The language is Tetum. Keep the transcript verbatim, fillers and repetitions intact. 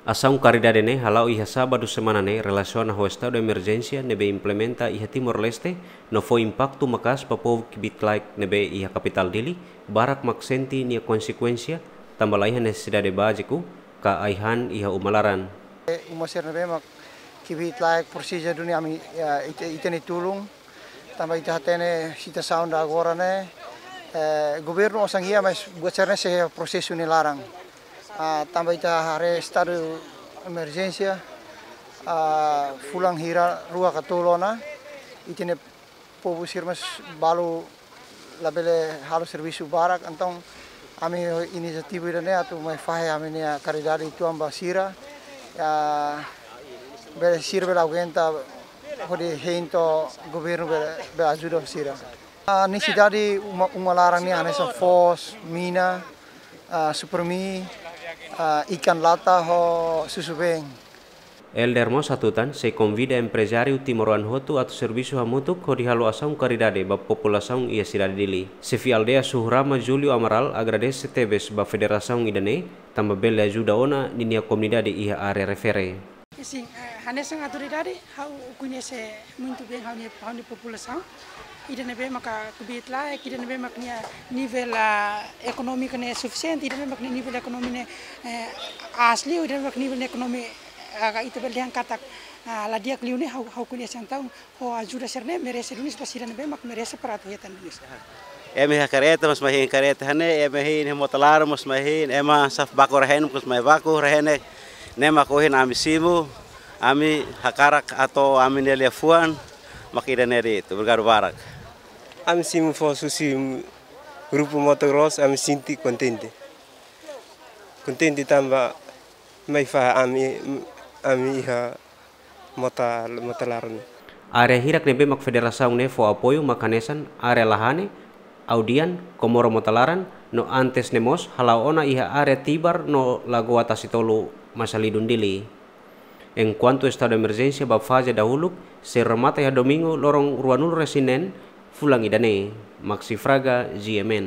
Asaun karidade ne'e hala'o iha sábadu semana ne'e relasiona ho estadu emerjénsia ne'ebé implementa iha Timor-Leste, no fó impaktu maka'as ba povu kbiit-laek ne'ebé iha kapitál Dili, barak mak sente nia konsekuénsia, tanba laiha nesesidade báziku ka ai-han iha uma laran. Uma sira ne'ebé mak kbiit-laek presiza duni ami, ya, ita, ita-nia tulun. Tanba ita hatene situasaun ida agora ne'e, eh, governu osan iha, mas buat sira-ne'e sei prosesu nia laran. Ah, tanba ita haree estadu emerjénsia, ah, fulan hira rua ka tolu ona, ita-nia povu sira mós balu labele halo servisu barak, entaun ami inisiativa ida-ne'e atu mai fahe ami-nia karidade uitoan ba sira, ya, bele sira bele aguenta hodi hein to'o governu bele, bele ajuda sira. Ah, nesesidade uma, uma laran nian hanesan foos, mina, ah, supermi, ah, ikan lata ho susubeen. Elder mós hatutan, sei konvida emprezáriu timoroan hotu atu servisu hamutuk hodi halo asaun karidade ba populasaun iha sidade Dili. Xefe aldeia Suhurama, Júlio Amaral, agradese tebes ba federasaun ida-ne'e, tanba bele ajuda ona ninia komunidade iha área refere. Sin, eh, hanesan autoridade, ha'u koñese muitu bein ha'u-nia, ha'u-nia populasaun. Ida ne'ebé maka kbiit-laek, ida ne'ebé mak nia nivel, ah, ekonómiku ne'e sufisiente, ida ne'ebé mak nia nivel ekonómiku ne'e, eh, aas liu, ida ne'ebé mak nivel ekonómiku, ah, ita bele dehan katak, ah, la di'ak liu ne'e, ha'u, ha'u koñese, entaun, ho ajuda sira-ne'e merese duni, ba sira ne'ebé mak merese para atu hetan duni. Ema iha karreta mós mai hein karreta iha ne'e, ema iha mota laran mós mai hein, ema saf baku rehen mós mai baku rehen ne'e. Ne'e mak ohin ami simu, ami hakarak atu ami-nia liafuan mak ida-ne'e de'it. Obrigadu barak. Ami simu foos husi grupu motocross, ami sente kontente. Kontente tanba mai fahe ami, ami iha mota, mota laran. Área hirak ne'ebé mak federasaun ne'e fó apoiu mak hanesan área Lahane, Audian, Komoro Mota Laran, no antes ne'e mós hala'o ona iha área Tibar no Lagoa Tasitolu, Masalidun, Dili. Enkuantu estadu emerjénsia ba faze dahuluk sei remata iha domingu loron ruanulu-resin-neen fulan ida-ne'e. Maxi Fraga, G M N.